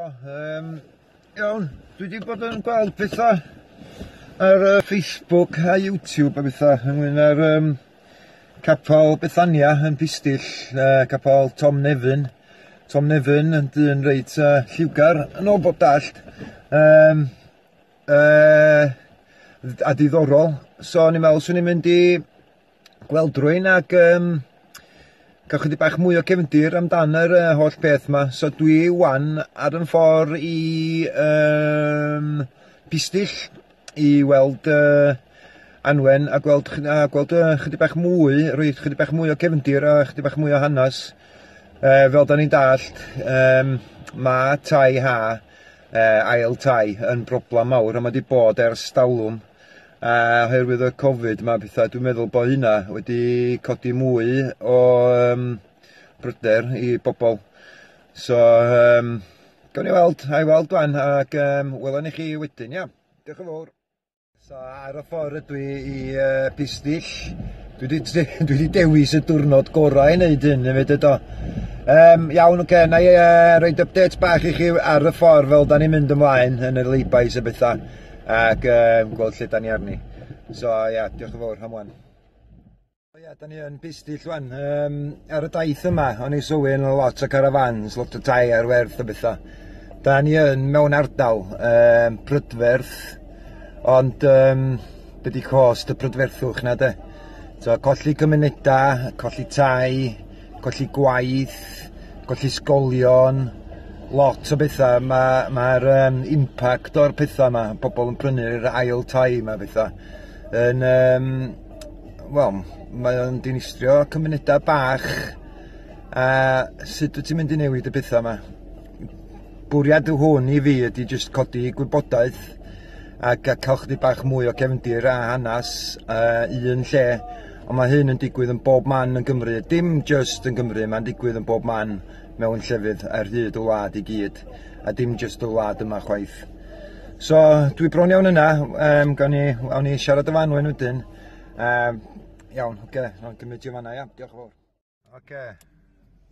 Iawn, dwi 'di bod yn gweld pethau ar uh, Facebook a YouTube a bethau ynglyn â'r um, capel Bethania yn Pistyll, uh, capel Tom Nefyn. Tom Nefyn yn dyn reit uh, lliwgar yn ôl bob dallt. Um, uh, a diddorol. So o'n i'n meddwl swn i'n mynd i gweld rwy'n ac um, cael chydig bach mwy o cefndir amdan yr uh, holl peth yma. So dwi wan ar yn ffordd i um, Pistyll i weld uh, Anwen a gweld, a gweld uh, chydig bach mwy, rhoi chydig bach mwy o cefndir a chydig bach mwy o hanes. Uh, fel da ni'n dallt, um, mae tai ha, uh, ail tai, yn broblem mawr a mae wedi bod ers talwm. A oherwydd y Covid 'ma a petha, dwi'n meddwl bod hynna wedi codi mwy o um, bryder i bobl. So, um, gawn ni weld, a i weld wan, ac um, welwn ni chi wedyn, ia. Diolch yn fawr. So, ar y ffordd ydw i i uh, Pistyll. Dwi wedi, dwi wedi dewis y diwrnod gorau i wneud hyn hefyd eto. Um, iawn, oce, okay, na i uh, roed update bach i chi ar y ffordd fel da ni'n mynd ymlaen yn y laybys a bethau ac um, gweld lle da ni arni. So, ia, yeah, diolch yn fawr am wan. O ia, da ni yn Pistyll wan. Um, ar y daith yma, o'n i sylwi yn lot o caravans, lot o tai ar werth a bethau. Da ni yn mewn ardal um, prydferth, ond um, be di cost y prydferthwch na de? So, colli cymunedau, colli tai, colli gwaith, colli ysgolion, lot o bethau. Mae'r ma, um, impact o'r pethau yma, pobl yn prynu'r ail tai yma bethau, yn, um, wel, mae o'n dinistrio cymunedau bach. A sut wyt ti'n mynd i newid y pethau yma? Bwriad hwn i fi ydy jyst codi gwybodaeth ac a cael chydig bach mwy o cefndir a hanes uh, un lle. Ond mae hyn yn digwydd yn bob man yn Gymru. Dim just yn Gymru, mae'n digwydd yn bob man mewn llefydd ar hyd y wlad i gyd. A dim just y wlad yma chwaith. So, dwi bron iawn yna. Um, gawn ni, awn ni siarad efo Anwen wedyn. Um, iawn, oce, okay, nawn gymryd i fanna, ia. Diolch yn fawr. Oce.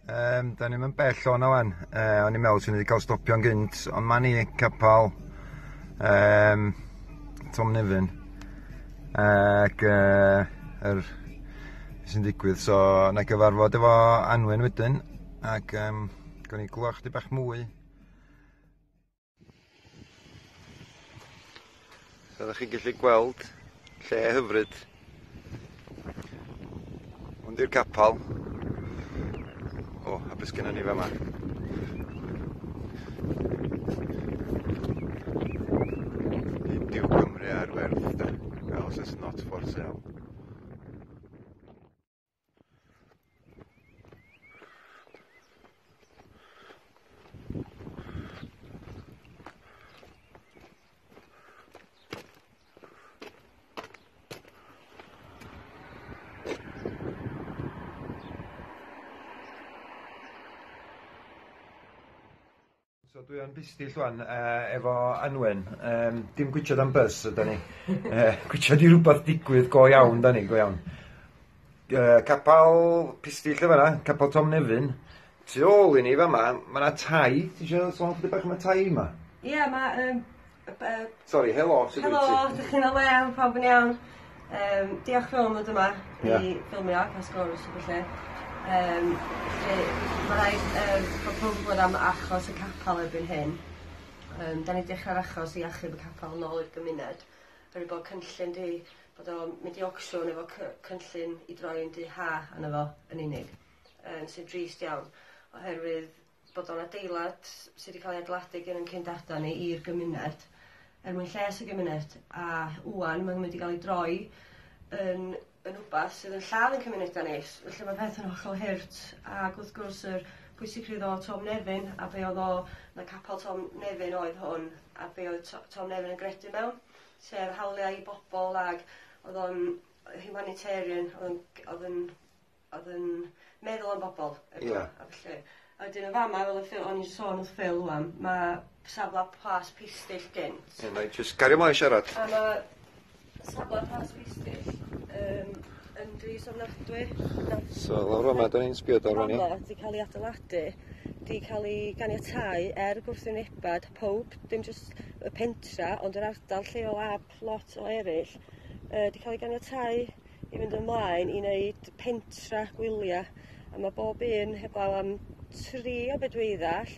Um, da ni'n mynd bell o'n wan. Uh, o'n i'n meddwl sy'n wedi cael stopio'n gynt, ond mae ni capel um, Tom Nefyn. Ac uh, yr sy'n digwydd, so na gyfarfod efo Anwen wedyn, ac um, gawn ni glwach chdi bach mwy. So ydych chi'n gallu gweld lle hyfryd. Hwn di'r capel. O, a beth sgennon ni fama? Nid yw Cymru ar werth, de. Wales is not for sale. So dwi yn Pistyll wan uh, efo Anwen. Um, dim gwitsiad am bus yda ni. uh, gwitsiad i rhywbeth digwydd go iawn da ni, go iawn. Uh, capel Pistyll y fanna, capel Tom Nefyn. Tu ôl i ni fama, mae yna tai. Ti eisiau sôn chydig bach am y tai yma? Ie, yeah, mae um, Sori, helo, sut wyt ti? Helo, dych chi'n o lew, pawb yn iawn. Um, diolch yn fawr am ddod yma yeah. i ffilmio a cael sgwrs o felly. Um, felly, mae rhaid um, bod pawb yn gwybod am achos y capel erbyn hyn. Um, da ni dechrau'r achos i achub y capel yn ôl i'r gymuned. Oherwydd bod cynllun di, bod o'n mynd i auction efo cynllun i droi yn du ha arno fo yn unig. Um, sy'n drist iawn, oherwydd bod o'n adeilad sydd wedi cael ei adeiladu gen ein cyn-dada ni i'r gymuned, er mwyn lles y gymuned, a ŵan mae'n mynd i gael ei droi yn, yn wbath sydd yn lladd yn cymunedau ni. Felly mae peth yn hollol hurt, ac wrth gwrs yr pwysigrwydd o Tom Nefyn, a be oedd o, na capel Tom Nefyn oedd hwn, a be oedd Tom Nefyn yn gredu mewn, sef hawliau i bobl, ac oedd o'n humanitarian, oedd o'n, oedd yn oedd yn meddwl am bobl. Ie. Yeah. A felly. A wedyn yn fama, fel y Phil, o'n i'n sôn wrth Phil wan, mae safle Plas Pistyll gynt. Ie, yeah, just cario mlaen siarad. A mae safle Plas Pistyll um, yn drist ofnadwy. So, lawr yma, da ni'n sbio ar hwn, ie? Wedi cael ei adeiladu di cael ei ganiatáu er gwrthwynebad pawb, dim jyst y pentra, ond yr ardal lleol a lot o eraill, di cael ei ganiatáu i fynd ymlaen i wneud pentra gwylia. A mae bob un, heblaw am 3 o be dwi ddall,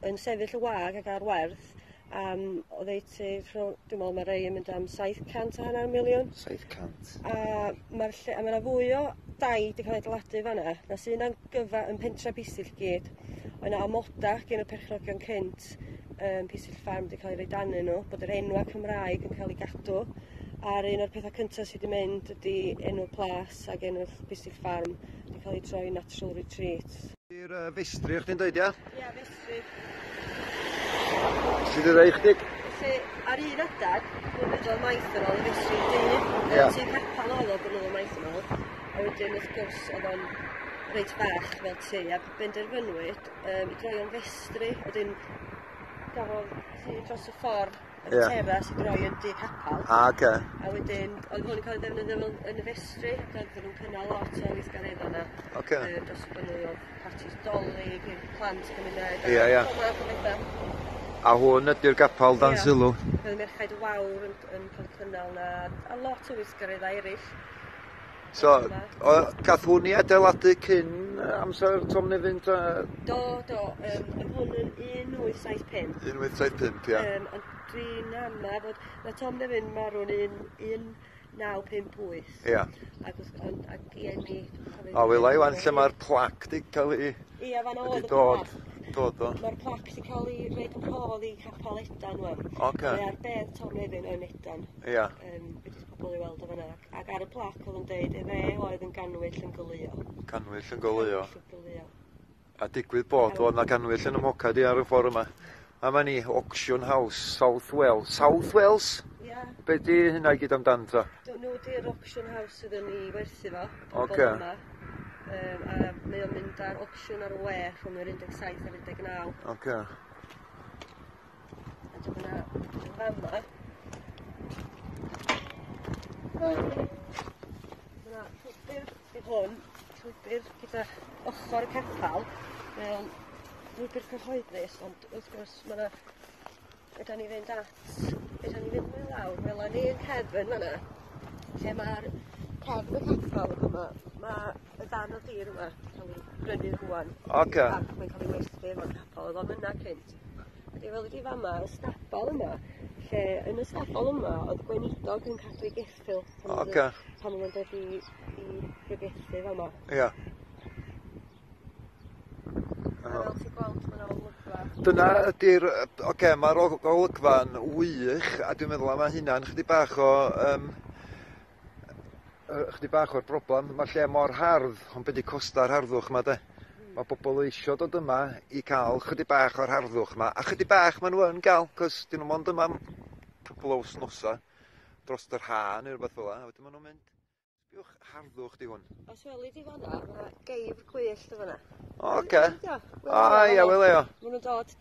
yn sefyll y wag ac ar werth am oddeutu rhwng, dwi'n meddwl mae rei yn mynd am 750 miliwn. 700. A mae'r lle, a mae 'na fwy o dai 'di cael ei adeiladu fan'na na sy'n yn gyfa yn pentra Pistyll gyd. Oedd 'na amoda gen y perchnogion cynt Pistyll Farm 'di cael ei roi danyn nhw, bod yr enwa Cymraeg yn cael ei gadw. A'r un o'r pethau cyntaf sydd wedi mynd ydy enw'r plas ac enw'r Pistyll Farm wedi cael ei troi Natural Retreat. I'r festri o'ch chdi'n dweud, ia? Ia, festri. Sydd wedi rhoi chdig? Felly, ar un adag, blynyddoedd maith yn ôl, y festri du, tŷ capel oedd o blynyddoedd maith yn ôl, a wedyn wrth gwrs oedd o'n reit fach fel tŷ, a benderfynwyd i droi o'n festri, wedyn gafodd tŷ dros y ffordd y teras i droi yn dŷ capel. Ah, oce. A wedyn oedd hwn yn cael ei ddefnyddio fel yn y festri, ac oedden nhw'n cynnal lot o weithgareddau yna. Dros y blynyddoedd, partis Dolig i'r plant gymuned. Ie, ie. Pob math o bethau. A hwn ydy'r gapel dan sylw. Oedd Merched y Wawr yn cael cynnal na, a lot o weithgareddau eraill. So, o, gath hwn i adeiladu cyn amser Tom Nefyn ta? Do, do, oedd hwn yn 1875. 1875, ia. Ond dwi'n ama fod, mae Tom Nefyn marw'n 1958. Ac, ond, ac i eni. O, wela i wan lle mae'r plac di cael ei Ia, fan wedi oedd y dod, plac. Dod o. Mae'r plac wedi cael ei roid yn rhodd i Capel Edan wan. Mae ar bedd Tom Nefyn yn Edan. Wedi pobl i weld o fan'na. Ac ar y plac oedd yn deud, efe oedd yn ganwyll yn goleuo. Canwyll yn goleuo. Canwyll yn goleuo. A digwydd bod oedd na canwyll yn y mocad i ar y ffordd yma. A ma ni, Auction House, South Wales. South Wales? Ia. Be di hynna i gyd amdan ta? Nhw di'r auction house sydd yn ei werthu fo. Pobl yma. A mae o'n mynd ar auction ar y we rhwng yr 17 a'r 19. A dyma na fama. Mae 'na llwybr i hwn, llwybr gyda ochr y capel. Mae o'n lwybr cyhoeddus, ond wrth gwrs mae 'na, fedra ni fynd at, fedra ni fynd mwy lawr, wela ni y cefn fan'na, lle mae'r cefn y capel yma, mae y darn o dir yma cael ei brynu rŵan. Ac mae'n cael ei werthu efo'r capel, oedd o'n yna cynt. Ydy fel ydi fama, y stabal yma, lle yn y stabal yma oedd gweinidog yn cadw ei geffyl pan oedd pan oedd o'n dod i bregethu fama. A fel ti'n gweld, mae 'na olygfa. Dyna ydy'r, oce, mae'r olygfa'n wych, a dwi'n meddwl am hynna'n chydig bach o, chydig bach o'r broblem. Mae lle mor hardd, ond be' 'di costa'r harddwch 'ma de? Mae bobl eisio dod yma i cael chydig bach o'r harddwch 'ma, a chydig bach maen nhw yn gael, cos dyn nhw mond yma am cwpl o wythnosau dros yr ha neu rhywbeth fel 'a, a wedyn maen nhw'n mynd. Sbiwch harddwch di hwn. Os weli di fan'na, ma' 'na geifr gwyllt yn fan'na. Oce. Ie, A ia, wele o. Ma' nhw'n dod,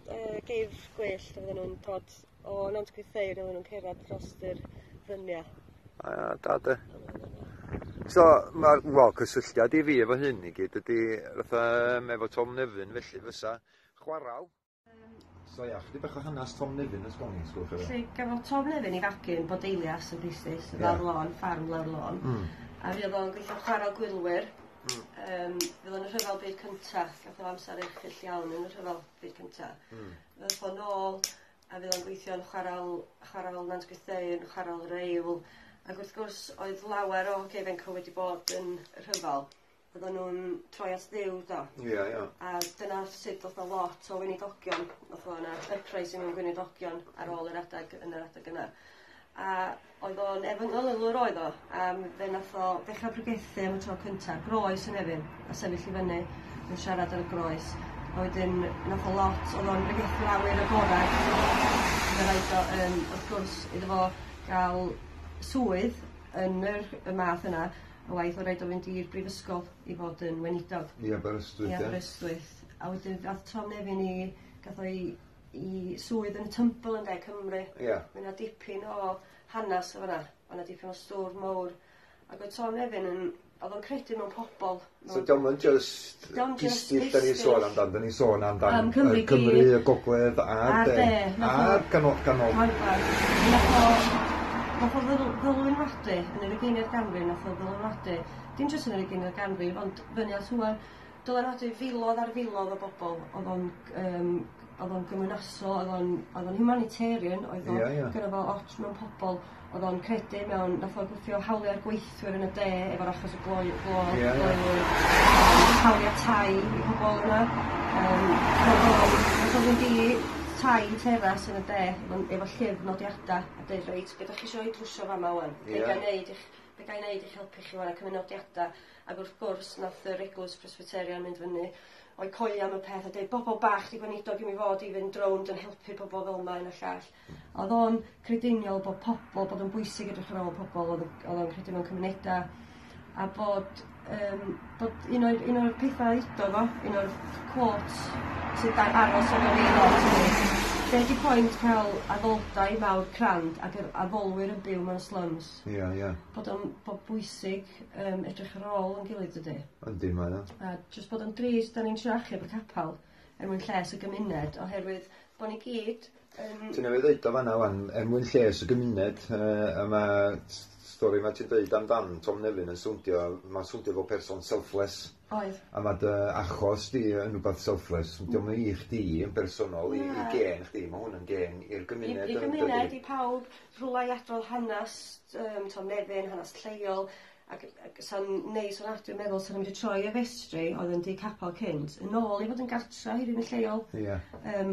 geifr gwyllt, a fydden nhw'n dod o Nant Gwrtheyrn, a fydden nhw'n cerdded dros yr fryniau. A da de. So, mae'r, wel, cysylltiad i fi efo hyn i gyd ydy fatha efo Tom Nefyn, felly fysa chwaral. So ia, chydig bach o hanes Tom Nefyn os gawn ni, sgwch chi. Felly, gafodd Tom Nefyn ei fagu yn Bodeilias yn Pistyll, lawr lôn, ffarm lawr lôn. A fuodd o'n gweithio chwaral gwylwyr. Fuodd o'n y Rhyfel Byd Cyntaf, gath o amser erchyll iawn yn y Rhyfel Byd Cyntaf. Ddoth o nôl, a fuodd o'n gweithio yn chwaral Nant Gwrtheyrn, chwaral yr Eifl. Ac wrth gwrs, oedd lawer o hogia ifanc wedi bod yn y rhyfel. Oedden nhw'n troi at Dduw, do. Ie, ie. A dyna sut ddoth o lot o weinidogion, ddoth o yna uprising mewn gweinidogion ar ôl yr adeg, yn yr adeg yna. A oedd o'n efengylwr oedd o, a fe nath o ddechrau pregethu am y tro cyntaf, groes yn Nefyn, a sefyll i fyny yn siarad ar y groes. A wedyn nath o lot, oedd o'n pregethu awyr agored. Fe raid o, wrth gwrs, iddo fo gael swydd yn y math yna, y waith oedd rhaid o fynd i'r brifysgol i fod yn weinidog. I Aberystwyth, I ie. Aberystwyth. A wedyn gath Tom Nefyn i, gath o i swydd yn y Tymbl yn De Cymru. Mae yna dipyn o hanes o fan'na. Mae yna dipyn o stwr mowr. Ac oedd Tom Nefyn yn Oedd o'n credu mewn pobl. So dio'm yn just Pistyll da ni'n sôn amdan, da ni'n sôn amdan Am Cymru Cymru, y Gogledd a'r De. A'r ganol. Ganol. Nath o ddylanwadu yn yr ugeinfed ganrif, nath o ddylanwadu, dim jyst yn yr ugeinfed ganrif, ond fyny at ŵan, dylanwadu filoedd ar filoedd o bobl. Oedd o'n oedd o'n gymwynasol, oedd o'n humanitarian, oedd o'n gynno fo ots mewn pobl, oedd o'n credu mewn, nath o gwthio hawliau'r gweithwyr yn y de efo'r achos y gloi, glo, glowyr, hawliau tai i pobl yna. Nath o fynd i tai teras yn y de efo llyfr nodiadau a dweud, "Reit, be ydych chi eisiau i drwsio fama wan? Be ga i neud i'ch be ga i neud i'ch helpu chi wan?" A cymryd nodiadau. Ac wrth gwrs, nath yr Eglwys Presbyterian mynd fyny o'i coeli am y peth a dweud, "Bobl bach di gweinidog i mi fod i fynd rownd yn helpu pobl fel yma yn y llall." Oedd o'n crediniol bod pobl, bod o'n bwysig edrych ar ôl pobl, oedd o'n credu mewn cymunedau, a bod un o'r pethau udodd o, un o'r quotes sydd aros efo fi lot ydi, "Be di pwynt cael addoldai mawr crand ac yr addolwyr yn byw mewn slums?" Ie, ie. Bod o'n bod bwysig edrych ar ôl yn gilydd, dydy. Yndi, mae o. A jyst bod yn drist, da ni'n trio achub y capel er mwyn lles y gymuned, oherwydd bod ni gyd yn. Ti'n newydd ddeud o fanna wan, er mwyn lles y gymuned, a mae stori ma ti'n dweud amdan Tom Nefyn yn swndio, mae'n swndio fel person selfless. Oedd. A mae dy achos di yn rhywbeth selfless. Dio'm i chdi yn bersonol, i gen chdi, mae hwn yn gen i'r gymuned. I gymuned, i pawb, rhywle i adrodd hanes Tom Nefyn, hanes lleol, ac sa'n neis o'n dwi'n meddwl sa'n mynd i troi y festri oedd yn di capel cynt, yn ôl i fod yn gartra i rywun lleol.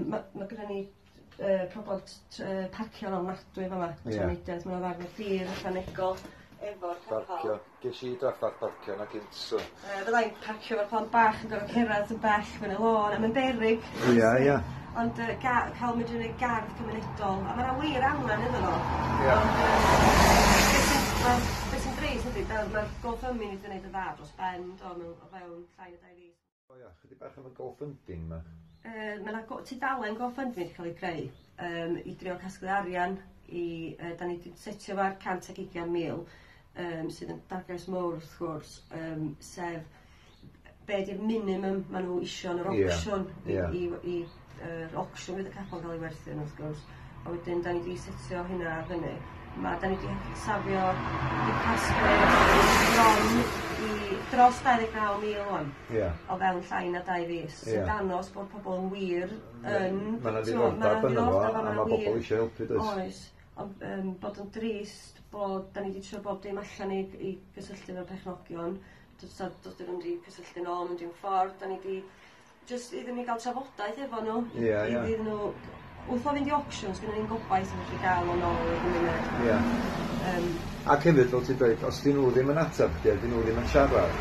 Mae gyda ni problem parcio ofnadwy fama, trafnidiaeth, mae'n ddarn o dir ychwanegol efo'r capel. Parcio. Ges i drafferth parcio na gynt, so. Fyddai'n parcio efo'r plant bach yn gorfod cerdded yn bell fyny lôn, a mae'n beryg. Ie, ie. Ond cael mynd i'n gardd cymunedol, a mae'n wir angen iddo fo. Ond, beth sy'n drist ydy, mae'r GoFundMe wedi gwneud y dda dros ben, do, mewn, o fewn llai na 2 fis. O ia, chydig bach am y GoFunding ma. Mae yna tudalen GoFundMe wedi cael ei creu i drio casglu arian i, da ni wedi setio fo ar 120,000, sydd yn darged mowr wrth gwrs, sef be di'r minimum maen nhw isio yn yr auction i yr auction fydd y capel gael ei werthu yn wrth gwrs. A wedyn da ni wedi setio hynna fyny. Da ni wedi safio, wedi casglu bron i dros 29,000 wan o fewn llai na 2 fis. Sy'n dangos bod pobl yn wir yn Mae yna t'mo', ma' 'na ddiddordeb yno fo, ddiddordeb a ma' 'na mae wir bobl eisiau helpu, does? Oes. Ond bod yn drist bod da ni wedi trio bob dim allan i gysylltu efo'r perchnogion. Does dyn nhw'n wedi cysylltu nôl mewn dim ffordd. Da ni wedi just iddyn ni gael trafodaeth efo nhw. Ie, ie. Iddyn nhw, wrth o fynd i auctions, gynnon ni'n gobaith yn gallu gael o'n ôl i'r gymuned. Ac hefyd, fel ti'n dweud, os dyn nhw ddim yn ateb chdi, a dyn nhw ddim yn siarad,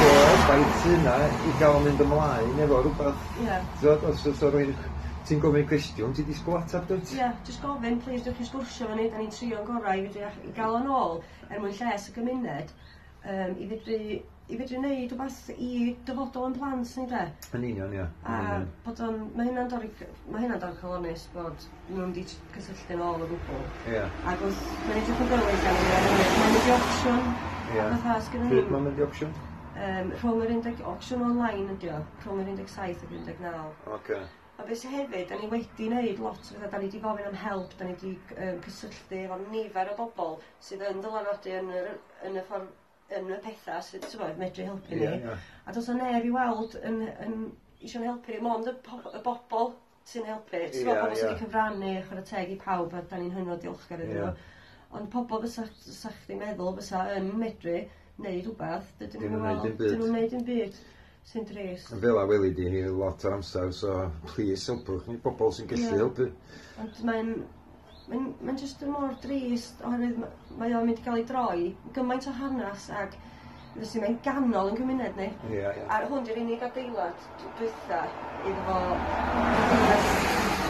o baith yna i gael mynd ymlaen efo rhywbeth. T'wod, os o rywun, ti'n gofyn cwestiwn, ti'n disgwyl ateb, dwyt? Ie, yeah, jyst gofyn, please, dewch i sgwrsio efo ni, da ni'n trio'n gorau i fedru i gael o'n ôl er mwyn lles y gymuned, i fedru wneud rhywbeth i dyfodol yn plant ni, de. Yn union, ie. A bod o'n, mae hynna'n dorri calonus bod nhw'n di cysylltu'n ôl o gwbl. Ac wrth, mae'n edrych yn dywyll gan mae'n mynd i auction. A fatha, sgynnon Pryd ni mae'n mynd i auction? Rhwng yr 10, auction online ydi o, rhwng yr 17 ac 19. A beth sy'n hefyd, da ni wedi wneud lot o bethau, da ni wedi gofyn am help, da ni wedi cysylltu efo nifer o bobl sydd yn dylanwadu yn y ffordd, yn y pethau sydd, ti'n gwbod, medru helpu ni. Ie, ie. A does 'na neb i weld yn eisiau'n helpu ni, mond y bobl sy'n helpu. Ti'n gwbod, pobl sydd wedi cyfrannu, chwarae teg i pawb, a da ni'n hynod diolchgar iddyn nhw. Ond pobl fysa chdi'n meddwl fysa yn medru wneud rhywbeth, dydyn Dim nhw'n yn neud weld, dim byd. dyn nhw'n neud dim byd sy'n drist. Fel a weli di hi lot o'r amser, so please helpwch ni bobl sy'n gallu helpu. Ond mae'n just yn mor drist oherwydd mae o'n mynd i gael ei droi gymaint o hanes ac felly mae'n ganol yn cymuned ni. Ie, ie. A hwn di'r unig adeilad dwytha iddo fo adeilad,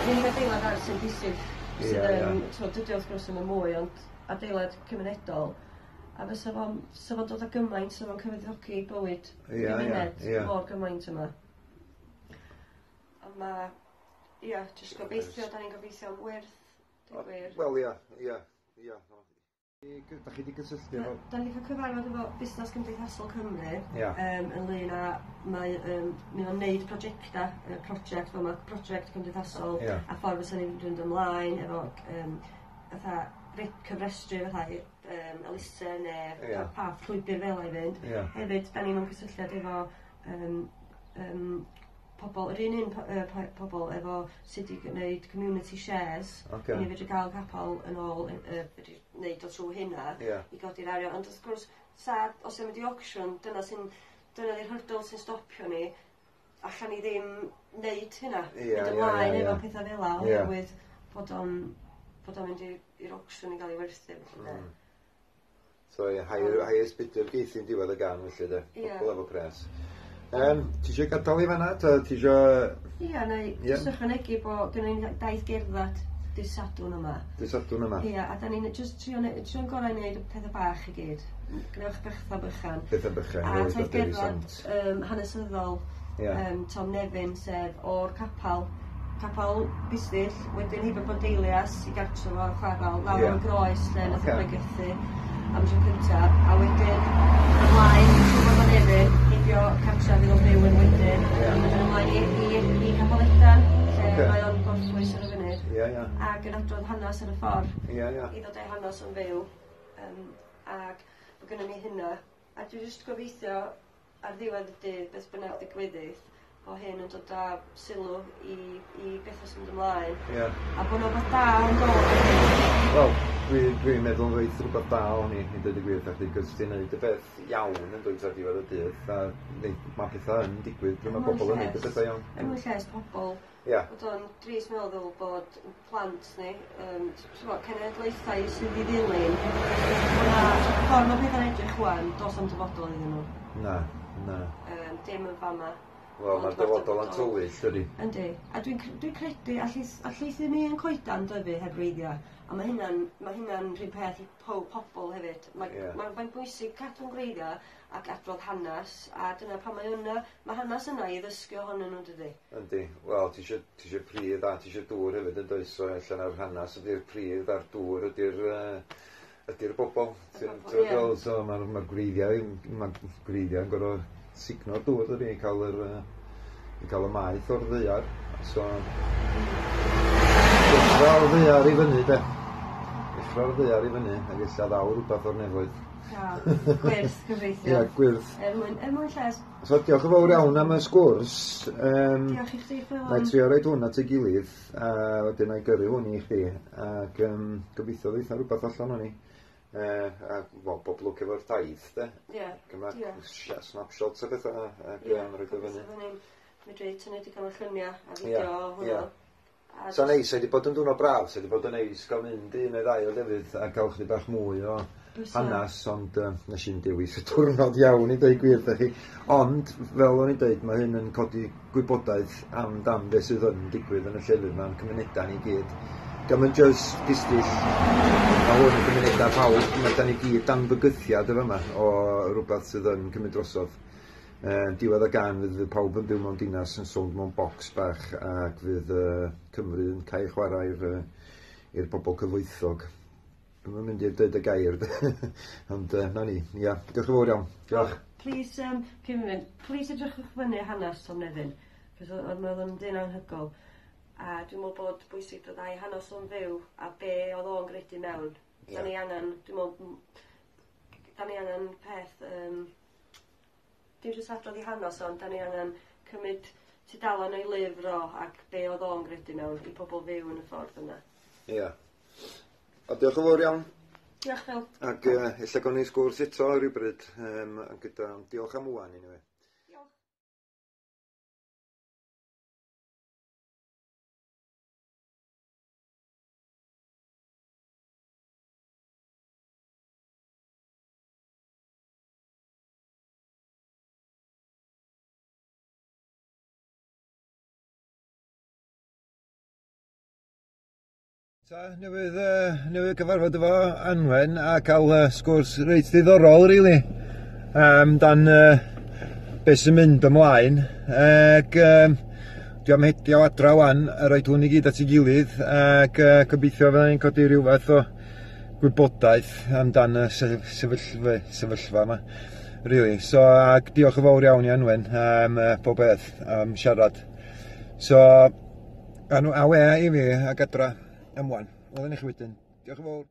yr unig adeilad ar sy'n bwysig sydd yn, t'mod, dydy o wrth gwrs ddim yn mwy, ond adeilad cymunedol. A fysa fo'n fysa fo'n dod â gymaint, fysa fo'n cyfoethogi bywyd gymuned mor gymaint yma. Ond ma', ia, jyst gobeithio, da ni'n gobeithio am wyrth, deud gwir. Wel, ia. Da chi wedi cysylltu efo... Da ni wedi cael cyfarfod efo Busnes Cymdeithasol Cymru ynglyn â mae mae o'n neud prosiectau, prosiect fel ma' prosiect cymdeithasol a ffordd fysa ni'n mynd ymlaen efo fatha cyfrestru fatha elusen neu pa llwybr fel 'a i fynd. Hefyd, da ni mewn cysylltiad efo pobl, yr un pobl efo sut i gwneud community shares. I ni fedru gael capel yn ôl, fedru wneud o trwy hynna i godi'r arian. Ond wrth gwrs, sa, os yw'n mynd i auction, dyna di'r hurdle sy'n stopio ni. Allan ni ddim wneud hynna. Mynd ymlaen efo pethau fel 'a, oherwydd bod o'n mynd i'r auction i gael ei werthu. So, highest bidder geith hi'n diwedd y gan, felly, de. Pobl efo pres. Ti eisiau gadael i fanna? Ti eisiau... Ia, neu jyst ychwanegu bod gynnon ni daith gerdded dydd Sadwrn yma. Dydd Sadwrn yma. Ia, a da ni'n jyst trio'n gorau i wneud y pethau bach i gyd. Gwnewch bethau bychan. Pethau bychan. A taith gerdded hanesyddol Tom Nefyn, sef o'r capel Pistyll, wedyn heibio Bondeilias i gartre fo'r chwarel, lawr y groes lle nath o bregethu am tro cyntaf, a wedyn ymlaen i Tom Nefyn, heibio cartre fydd o'n byw yn wedyn, wedyn ymlaen i Capel Edan, lle mae o'n gorffwys ar y funud, ac yn adrodd hanes ar y ffordd, i ddod â'i hanes yn fyw, ac mae gynnon ni hynna, a dwi jyst gobeithio ar ddiwedd y dydd, beth bynnag ddigwyddith, bo hyn yn dod â sylw i bethau sy'n mynd ymlaen. A bod 'na rwbath da yn dod. Wel, dwi'n meddwl roedd rhywbeth da o'n i, i dweud y gwir, chdi, cos ti'n neud y peth iawn yn dweud ar diwedd y dydd, a mae pethau yn digwydd pryd mae pobl yn neud y pethau iawn. Er mwyn lles pobl. Bod o'n drist meddwl bod plant ni, cenedlaethau sydd i ddilyn, bod 'na ffordd mae pethau'n edrych ŵan, does na'm dyfodol iddyn nhw. Na, na. Dim yn fama. Wel, mae'r dyfodol yn tywyll, dydi? Yndi. A dwi'n credu, allith ddim un coedan dyfu heb wreiddiau. A mae hynna'n rhywun peth i pobl hefyd. Mae'n bwysig cadw'n gwreiddiau ac adrodd hanes, a dyna pan mae yna. Mae hanes yna i ddysgu ohonyn nhw, dydi? Yndi. Wel, ti eisiau pridd a ti eisiau dŵr hefyd yn does, so allan o'r hanes ydy'r pridd a'r dŵr ydy'r bobl. So mae'r gwreiddiau yn gorfod sugno'r dŵr, dydi, i cael y maeth o'r ddaear. So, deffro'r ddaear i fyny, de. Deffro'r ddaear i fyny, ac ella ddaw rhywbeth o'r nefoedd. Gwyrth, gobeithio. Ia, gwyrth. Er mwyn lles. So, diolch yn fawr iawn am y sgwrs. Diolch i chdi, Phil. Na i trio roid hwn at ei gilydd, a wedyn na i gyrru hwn i chdi, ac gobeithio ddeitha rhywbeth allan o'n i. A wel, bob lwc efo'r daith, de. Ie. Snapshots a bethau, ac roed o fyny. Medru tynnu digon o lluniau a fideo o hwnnw. Sa'n neis, wedi bod yn diwrnod braf, wedi bod yn neis gael mynd un neu ddau o lefydd a gael chdi bach mwy o hanes, ond nes i'n dewis y diwrnod iawn i dweud gwir, da chi. Ond, fel o'n i'n dweud, mae hyn yn codi gwybodaeth amdan beth sydd yn digwydd yn y llefydd ma'n cymunedau ni gyd. Dio'm yn jyst Pistyll, mae hwn yn gymunedau pawb, mae da ni gyd dan fygythiad efo yma o rhywbeth sydd yn cymryd drosodd. Diwedd y gan fydd pawb yn byw mewn dinas yn sownd mewn bocs bach ac fydd Cymru yn cael chwarae i'r bobl cyfoethog. Dwi'm yn mynd i dweud y gair, ond na ni. Ia, diolch yn fawr iawn. Diolch. Please, cyn mynd, please edrychwch fyny hanes Tom Nefyn, cos oedd o'n dyn anhygoel. A dwi'n meddwl bod bwysig dod â'i hanes o'n fyw a be oedd o'n gredu mewn. Da ni angen, dwi'n meddwl, da ni angen peth, dim jyst adrodd i hanes ond da ni angen cymryd tudalen o'i lyfr o ac be oedd o'n gredu mewn i pobl fyw yn y ffordd yna. Ia. A diolch yn fawr iawn. Diolch, Phil. Ac ella gawn ni sgwrs eto rhywbryd, gyda diolch am ŵan anyway. Diolch. Ta, newydd gyfarfod efo Anwen a cael sgwrs reit ddiddorol, really, amdan beth sy'n mynd ymlaen. Ac dwi am hedio adra wan a roid hwn i gyd at ei gilydd ac gobeithio fydda ni'n codi rhyw fath o gwybodaeth amdan y sefyllfa sefyllfa yma really. So ac diolch yn fawr iawn i Anwen am pob beth am siarad. So anw awe i fi ag adra am wan. Welwn ni chi wedyn. Diolch yn fawr.